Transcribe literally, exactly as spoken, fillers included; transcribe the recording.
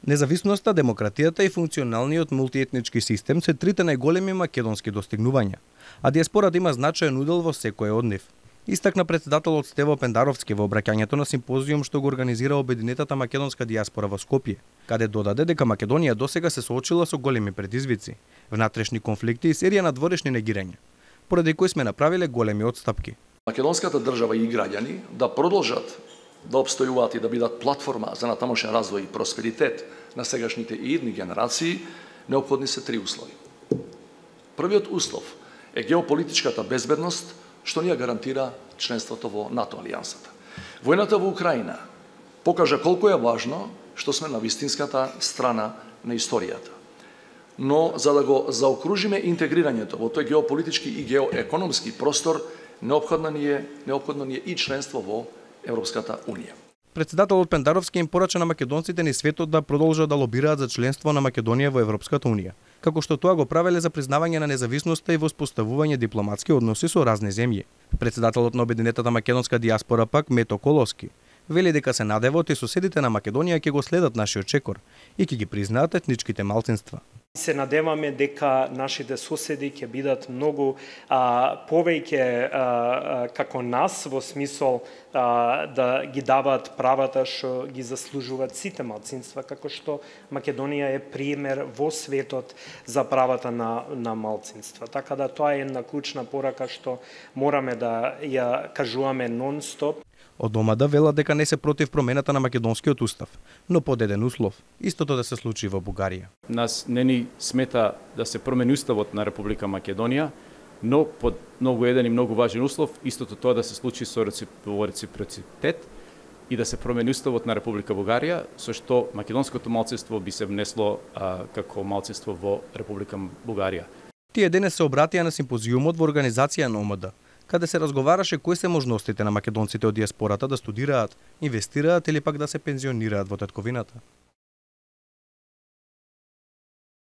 Независноста, демократијата и функционалниот мултиетнички систем се трите најголеми македонски достигнувања, а диаспората има значаен удел во секој од нив. Истакна претседателот Стево Пендаровски во обраќањето на симпозиум што го организира Обединетата македонска диаспора во Скопје, каде додаде дека Македонија досега се соочила со големи предизвици, внатрешни конфликти и серија на дворешни негирања, поради кои сме направиле големи отстапки. Македонската држава и граѓани да продолжат да обстојуваат и да бидат платформа за натамошен развој и просперитет на сегашните и идни генерации, неопходни се три услови. Првиот услов е геополитичката безбедност, што ни ја гарантира членството во НАТО алијансата. Војната во Украина покажа колку е важно што сме на вистинската страна на историјата. Но за да го заокружиме интегрирањето во тој геополитички и геоекономски простор, неопходно ни е, неопходно ни е и членство во Европската унија. Претседателот Пендаровски им порача на македонците низ светот да продолжат да лобираат за членство на Македонија во Европската унија, како што тоа го правеле за признавање на независноста и воспоставување дипломатски односи со разни земји. Претседателот на Обединетата македонска диаспора пак Мето Колоски вели дека се надевот и соседите на Македонија ќе го следат нашиот чекор и ќе ги признаат етничките малцинства. Се надеваме дека нашите соседи ќе бидат многу а, повеќе а, а, како нас, во смисол а, да ги даваат правата што ги заслужуваат сите малцинства, како што Македонија е пример во светот за правата на, на малцинства. Така да тоа е една клучна порака што мораме да ја кажуваме нон-стоп. Од домада велат дека не се против промената на македонскиот устав, но под еден услов – истото да се случи во Бугарија. Нас не ни смета да се промени уставот на Република Македонија, но под многу еден и многу важен услов, истото тоа да се случи со во реципроцитет и да се промени уставот на Република Бугарија, со што македонското малцинство би се внесло а, како малцинство во Република Бугарија. Тие денес се обратија на симпозиумот во организација на О М Д, каде се разговараше кои се можностите на македонците од диаспората да студираат, инвестираат или пак да се пензионираат во татковината.